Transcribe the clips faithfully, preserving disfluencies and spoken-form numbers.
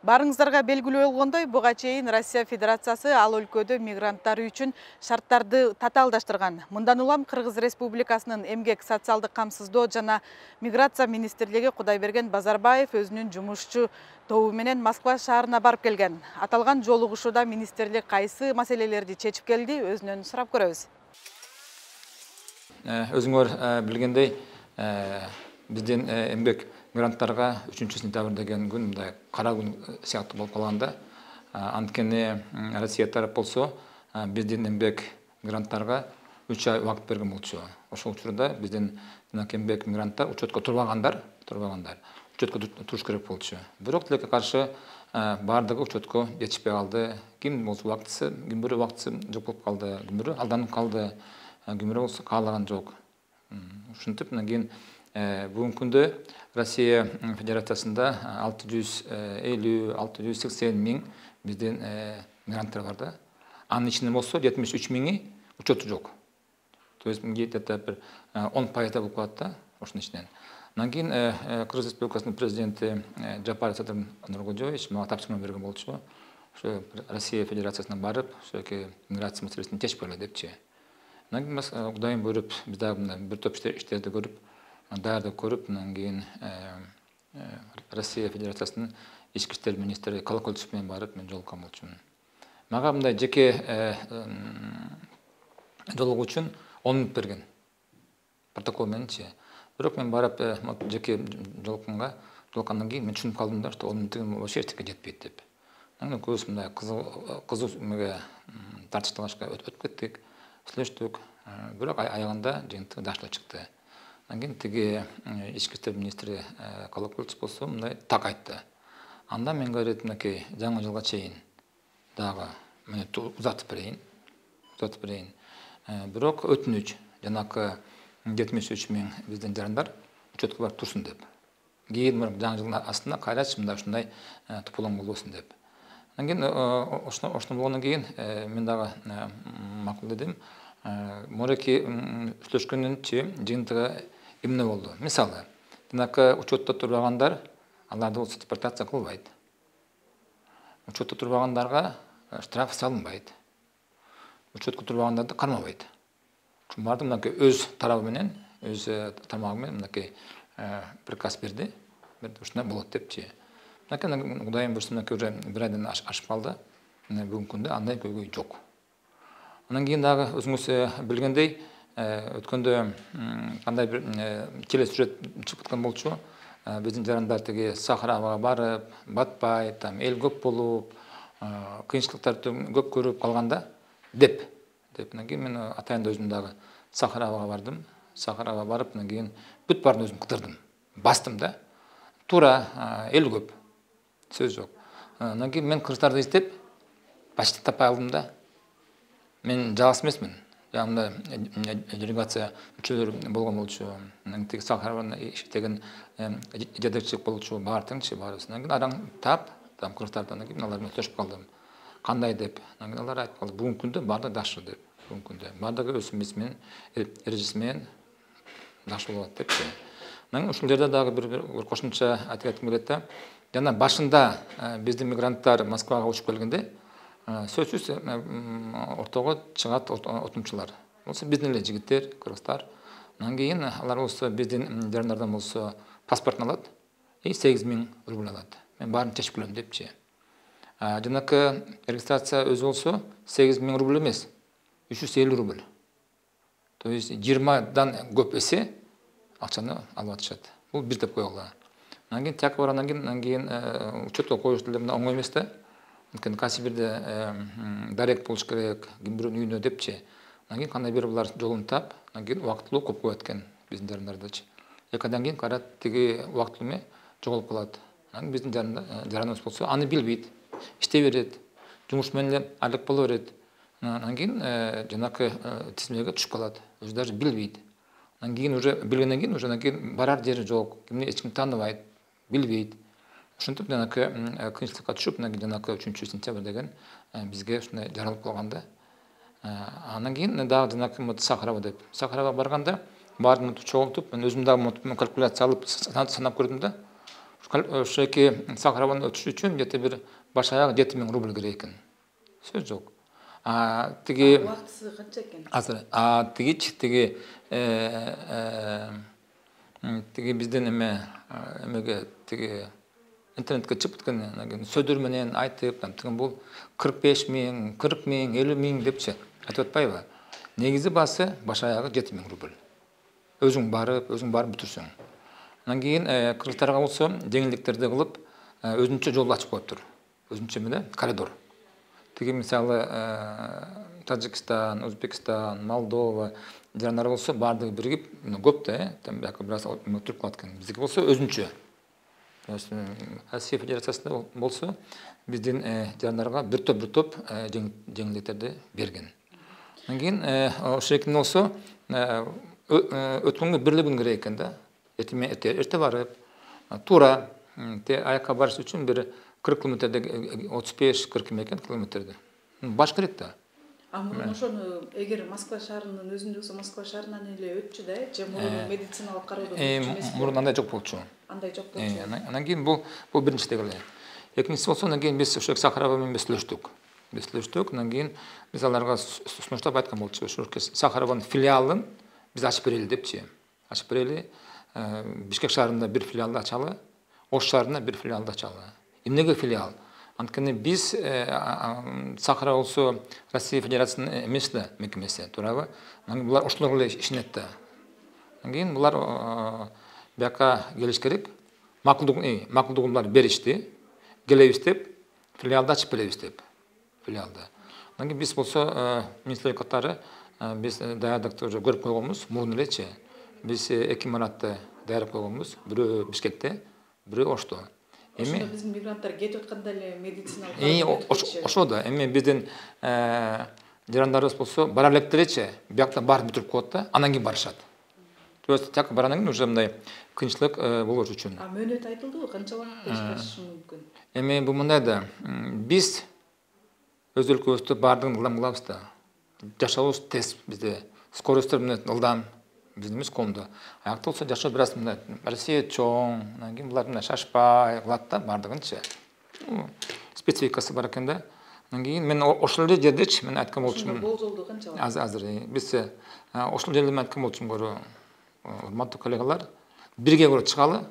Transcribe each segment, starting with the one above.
Барыңыздарга белгилүү болгондой, буга чейин Россия Федерациясы ал өлкөдө мигранттар үчүн шарттарды татаалдаштырган. Мындан улам Кыргыз Республикасынын эмгек, социалдык камсыздоо жана миграция министрлиги Кудайберген Базарбаев өзүнүн жумушчу тобу менен Москва шаарына барып келген. Аталган жолугушууда министрлик кайсы маселелерди чечип келди, өзүнөн сурап көрөбүз. Өзүңөр билгендей, биздин эмгек мигранттарга үчүнчү сентябрь деген күн мындай кара күн сыяктуу болуп калганда, анткени Россия тарап болсо биздин эмгек мигранттарга үч ай убакыт берген болчу. Ошол учурда биздин эмгек мигранттар учетко турбагандар, турбагандар учетко туруш керек болчу. Бирок тилекке каршы баардыгы учетко жетишпей калды. Ким болсо убактысы, ким бирөө убактысы жок болуп калды, ким бирөө алданып калды, ким бирөө болсо каалаган жок. Ушинтип анан кийин бүгүнкү күндө Россия Федерациясында алты жүз элүү алты жүз сексен миң биздин мигранттар бар да. Анын ичинде болсо жетимиш үч миңи учету жок. То есть где-то бир он пайыз болуп калат да ошонун ичинен. Анан кийин Кыргыз Республикасынын президенти Жапаров Садыр Нуркожоевич мага тапшырма берген болчу. Ошо Россия Федерациясына барып, ошоки миграция маселесин чечип келе депчи. Анан кийин Кудайым буйруп, биз дагы бир топ иштерди көрүп, даярдык көрүп, анан кийин Россия Федерациясынын ички иштер министри Колокольцов менен барып мен жолуккан болчумун. Мага мындай жеке жолугуу үчүн он мүнөт берген. Протокол мененчи. Бирок мен барып жеке жолукканга, жолуккандан кийин мен түшүнүп калдым да, что он мүнөттүн вообще эчтеке жетпейт деп. Анан көбүс мындай кызуу эмеге тартышталышка өтүп кеттик, сүйлөштүк. Бирок аягында жыйынтык жакшы чыкты. Анан кийин тиги ички иштер министри Колокольцов болсо мындай так айтты. Анда мен говорит, мынакей жаңы жылга чейин дагы мени узатып берейин, узатып берейин. Бирок өтүнүч, жанакы жетимиш үч миң биздин жарандар учетко барып турсун деп. Кийин жаңы жылдын астында кайрачы мындай ушундай тупулоң болбосун деп. Анан кийин ошондо болгондон кийин мен дагы макул дедим. Мореки сүйлөшкөндөнчү жыйынтыгы эмне болду? Мисалы, жанакы учетто турбагандар, аларды болсо депортация кылбайт. Учетто турбагандарга штраф салынбайт. Учетко турбагандарды кармабайт. Баардыгы мынакей өз тарабы менен, өз тармагы менен мынакей приказ берди. Ушундай болот депчи. Мынакей Кудайым буйрса мынакей уже бир айдан ашып калды. Бүгүнкү күндө андай көйгөй жок. Анан кийин дагы өзүңүз билгендей, өткөндө кандай бир телесюжет чыгып аткан болчу. Биздин жарандар тиги Сахарага барып, батпай, там эл көп болуп, кыйынчылыктарды көп көрүп калганда деп. Деп анан кийин мен атайында өзүм дагы Сахарага бардым. Сахарага барып, анан кийин бүт баарын өзүм кыдырдым. Бастым да. Туура эл көп. Сөз жок. Анан кийин мен кыргыздарды издеп, почти таппай калдым да. Мен жалгыз эмесмин. Жанымда делегация мүчөлөрү болгон болчу. Анан тиги Сахарада иштеген жетекчилик болчу, баары теңчи баарыбыздан кийин араң тап, там кыргыздардан кийин алар менен сүйлөшүп калдым. Кандай деп. Анан кийин алар айтып калды, бүгүнкү күндө баардыгы жакшы деп. Бүгүнкү күндө баардыгы өз эмеси менен, эрежеси менен жакшы болот депчи. Анан ушул жерде дагы бир кошумча айткым келет да. Жана башында биздин мигранттар Москвага учуп келгенде сөзсүз ортого чыгат отумчулар. Болсо биздин эле жигиттер, кыргыздар. Анан кийин алар болсо биздин жарандардан болсо паспортун алат и сегиз миң рубль алат. Мен баарын чечип келем депчи. Жанакы регистрация өзү болсо сегиз миң рубль эмес, үч жүз элүү рубль. То есть жыйырмадан көп эсе акчаны алып атышат. Бул бир деп койгула. Анан кийин тияка баргандан кийин, анан кийин учетко коюш деле мындай оңой эмес да. Анткени кайсы бирде дарек болуш керек, ким бирөөнүн үйүнө депчи. Анан кийин кандай бир булар жолун тап, анан кийин убактылуу көп коет экен биздин жарандардычы. эки айдан кийин кайра тиги убактылуу эме жоголуп калат. Анан биздин жараныбыз болсо аны билбейт, иштей берет, жумуш менен эле айлык боло берет. Анан кийин жанакы тизмеге түшүп калат, өзү даже билбейт. Анан кийин уже билгенден кийин уже анан кийин барар жери жок, кимди эч ким тааныбайт, билбейт. Ошентип жанакы кыйынчылыкка түшүп, анан кийин жанакы үчүнчү сентябрь деген бизге ушундай жаралып калганда. Анан кийин дагы жанакы Сахарова деп. Сахарова барганда баарын чогултуп, мен өзүм дагы калькуляция алып санап көрдүм да. ошо эки Сахарованы өтүш үчүн где-то бир баш аяк жети миң рубль керек экен. Сөз жок. А тиги убактысы канча экен? Азыр а тигичи тиги тиги бизден эме эмеге тиги интернетке чыгып кеткен сөздөр менен айтып, тиги бул кырк беш миң, кырк миң, элүү миң депчи айтып атпайбы? Негизи басы баш аягы жети миң рубль. Өзүң барып, өзүң барып бүтүрсөң. Андан кийин кыргыздарга болсо жеңилдиктерди кылып, өзүнчө жол ачып коюптур. Өзүнчө эмне? Коридор. Тиги мисалы Тажикстан, Өзбекстан, Молдова жарандар болсо баардыгы биригип, көп да, там бияка бир аз өтүрүп калат экен. Биздики болсо өзүнчө. Россия Федерациясында болсо биздин жарандарга бир топ бир топ жеңилдиктерди берген. Андан кийин ошо экен болсо өткөнгө бир эле күн керек экен да. Эрте барып, туура аякка барыш үчүн бир кырк километрде отуз беш кырк экен километрде. Баш керек да. А мурун ошону эгер Москва шаарынын өзүндө болсо Москва шаарынан эле өтчү да, же мурун медициналык кароодон өтчү эмеспи? Мурун андай жок болчу. Андай жок болчу. Андан кийин бул бул биринчи эле. Экинчиси болсо андан кийин биз ошо Сахарова менен сүйлөштүк. Биз сүйлөштүк, андан кийин биз аларга сунуштап айткан болчу. Ошо Сахарованын филиалын биз ачып берели депчи. Ачып берели. Бишкек шаарында бир филиалды ачалы, Ош шаарында бир филиалды ачалы. Эмнеге филиал? Анткени биз Сахарова болсо Россия Федерациясынын эмес да мекемеси, туурабы? Анан кийин булар ошолор эле ишенет да. Андан кийин булар бияка келиш керек. Макулдугун макулдугун булар беришти. Келебиз деп, филиалды ачып беребиз деп. Филиалды. Андан кийин биз болсо министрлик катары биз даярдыкты уже көрүп койгонбуз, мурун элечи. Биз эки имаратты даярдап койгонбуз. Бирөө Бишкекте, бирөө Ошто. Эми биздин мигранттар кетип атканда эле медициналык Эми ошо да, эми биздин жарандарыбыз болсо бара электеречи, биякта барып бүтүрүп коет да, анан кийин барышат. То есть так барандан кийин уже мындай кыйынчылык болуш үчүн. А мөөнөт айтылдыбы, канча убакытта ишкериши мүмкүн? Эми бул мындай да, биз өз өлкөбүздө баардыгын ылдам кылабыз да. Жашообуз тез бизде, скоростьтор менен ылдам. Биздин эмес колунда. Аякта болсо жашоо бир аз мындай Россия чоң, анан кийин булар мындай шашпай кылат да баардыгынчы. Спецификасы бар экен да. Андан кийин мен ошол эле жердечи мен айткан болчумун. Болжолду канча бар? Азыр азыр биз ошол жерде мен айткан болчумун көрө. Урматтуу коллегалар, бирге көрө чыгалы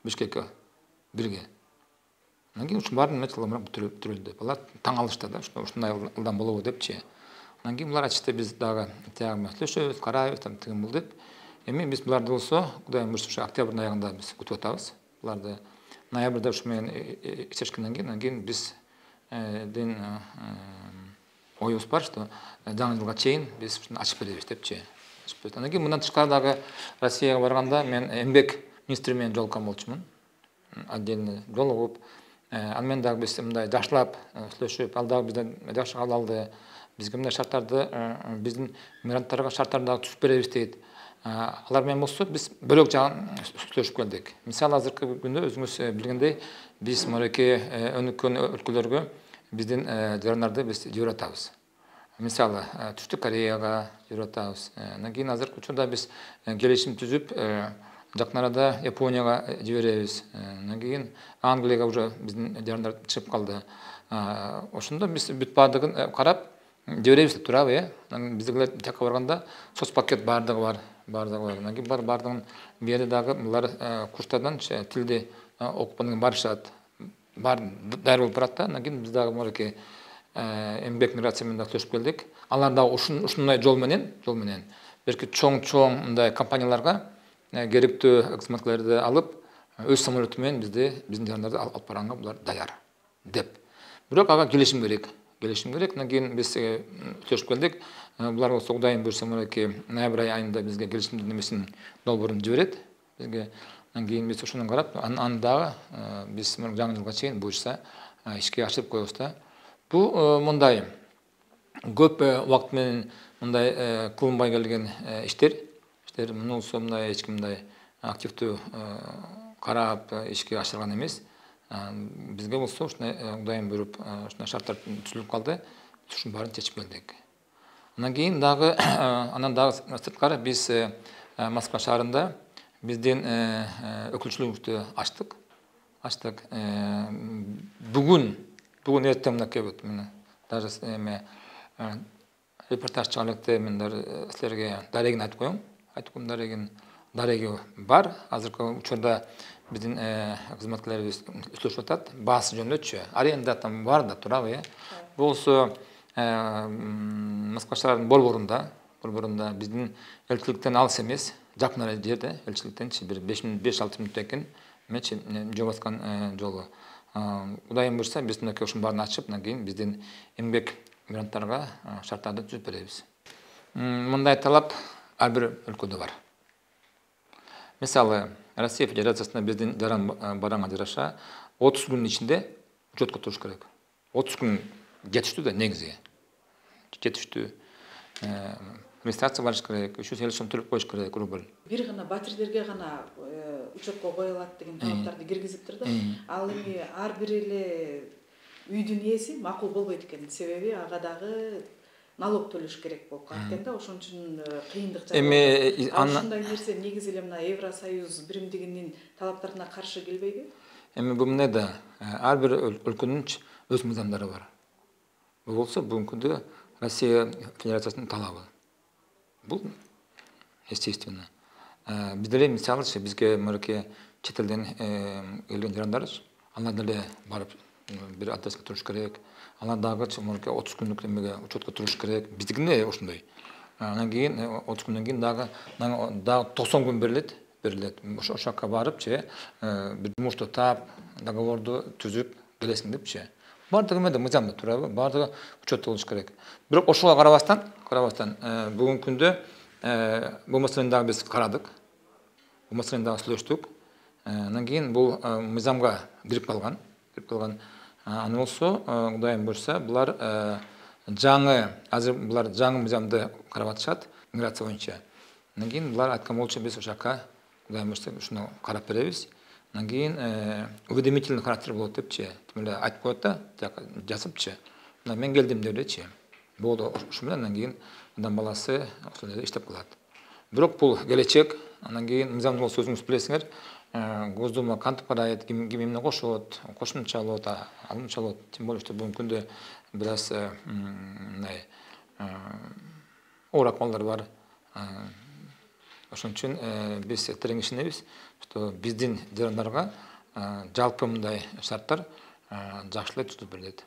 Бишкекке. Бирге. Андан кийин ушун баарын металломрак бүтүрөлдү. Булар таң алышты да, ушундай ылдам болобу депчи. Андан кийин булар айтышты, биз дагы тияк менен сүйлөшөбүз, карайбыз, тыгын бул деп. Эми биз буларды болсо, Кудайым буйрса, ушу октябрдын аягында биз күтүп атабыз. Буларды ноябрда ушу менен ишешкенден кийин, андан кийин биз ден оюбуз бар, что жаңы жылга чейин биз ушуну ачып беребиз депчи. Андан кийин мындан тышкары дагы Россияга барганда мен эмгек министри менен жолуккан болчумун. Отдельно жолугуп, аны менен дагы биз мындай жакшылап сүйлөшүп, ал дагы бизден жакшы кабыл алды. Бизге мындай шарттарды, биздин мигранттарга шарттарды дагы түзүп беребиз дейт. Алар менен болсо биз бөлөк жагын сүйлөшүп келдик. Мисалы азыркы күндө өзүңүз билгендей, биз мынакей өнүккөн өлкөлөргө биздин жарандарды биз жиберип атабыз. Мисалы Түштүк Кореяга жиберип атабыз. Андан кийин азыркы учурда биз келишим түзүп, жакын арада Японияга жиберебиз. Андан кийин Англияга уже биздин жарандар чыгып калды. Ошондо биз бүт баардыгын карап жиберебиз деп турабы, э? Биздегилер жакка барганда соцпакет баардыгы бар, баардыгы бар. Анан кийин бар баардыгын берди дагы булар курстардан тилди окуп анан барышат. Бар даяр болуп барат да. Андан кийин биз дагы мынакей эмгек миграция менен дагы сүйлөшүп келдик. Алар дагы ушундай жол менен, жол менен берки чоң-чоң мындай компанияларга керектүү кызматкерлерди алып, өз самолету менен бизди, биздин жарандарды алып барганга булар даяр деп. Бирок ага келишим керек. Келишим керек. Андан кийин биз сүйлөшүп келдик. Булар болсо Кудайым буйрса мынакей ноябрь айында бизге келишимдин немесин долбоорун жиберет. Бизге андан кийин биз ошону карап, аны дагы биз жаңы жылга чейин буйрса ишке ашырып коебуз да. Бул мындай көп убакыт менен мындай кылынбай келген иштер. Иштер муну болсо мындай эч ким мындай активдүү карап ишке ашырган эмес. Бизге болсо ушундай Кудайым буйруп, ушундай шарттар түзүлүп калды. Ушунун баарын чечип келдик. Андан кийин дагы анан дагы сырткары биз Москва шаарында биздин өкүлчүлүгүбүздү ачтык. ачтык. Бүгүн бүгүн эртең мынакей болот. Мына даже эме репортаж чыгарылды, мен силерге дарегин айтып коем. Айтып коем дарегин. Дареги бар. Азыркы учурда биздин кызматкерлерибиз сүйлөшүп атат. Баасы жөнүндөчү. Аренда там бар да турабы, э. Болсо Москва шаарынын борборунда, борборунда биздин элчиликтен алыс эмес, жакын эле жерде, элчиликтенчи бир беш алты мүнөттөн кийин мечи жол баскан жолу. Кудайым буйрса, биз мынакей ушунун баарын ачып, андан кийин биздин эмгек мигранттарга шарттарды түзүп беребиз. Мындай талап ар бир өлкөдө бар. Мисалы, Россия Федерациясында биздин жаран бараңга жараша отуз күнүн ичинде учетко туруш керек. отуз күн жетиштүү да негизи. Жетиштүү. Регистрация барыш керек, үч жүз элүү сом төлөп коюш керек рубль. Бир гана батирлерге гана учетко коюлат деген талаптарды киргизиптир да. Ал эми ар бир эле үйдүн ээси макул болбойт экен. Себеби ага дагы налог төлөш керек болуп калат экен да. Ошон үчүн кыйындык жагат. Эми ушундай нерсе негизи эле мына Евросоюз биримдигинин талаптарына каршы келбейби? Эми бул эмне да, ар бир өлкөнүн өз мыйзамдары бар. Бул болсо бүгүнкү күндө Россия Федерациясынын талабы. Бул естественно. Биз деле мисалы бизге мынакей чет элден келген жарандар, алар деле барып бир адреске туруш керек. Алар дагы мынакей отуз күндүк эмеге учетко туруш керек. Биздикине ошондой. Андан кийин отуз күндөн кийин дагы дагы токсон күн берилет, берилет. Ошо жака барыпчы бир жумушту таап, договорду түзүп келесиң депчи. Бардыгы эмеде мыйзамда турабы, бардыгы учетто болуш керек. Бирок ошого карабастан, карабастан бүгүнкү күндө бул маселени дагы биз карадык. Бул маселени дагы сүйлөштүк. Андан кийин бул мыйзамга кирип калган, кирип калган. Аны болсо, Кудайым буйрса, булар жаңы, азыр булар жаңы мыйзамды карап атышат миграция боюнча. Андан кийин булар айткан болчу, биз ошака Кудайым буйрса, ушуну карап беребиз. Андан кийин уведомительный характер болот депчи. Тим эле айтып коет да, жазыпчы. Мына мен келдим деп элечи. Болду, ошо менен андан кийин адам баласы ошол жерде иштеп калат. Бирок бул келечек. Андан кийин мыйзамды болсо өзүңүз билесиңер, Госдума кантип карайт, ким эмне кошот, кошумча болот, алымча болот. Тем более что бүгүнкү күндө бир аз мындай оор акыбалдар бар. Ошон үчүн биз терең ишенебиз, что биздин жарандарга жалпы мындай шарттар жакшы эле түзүп берилет.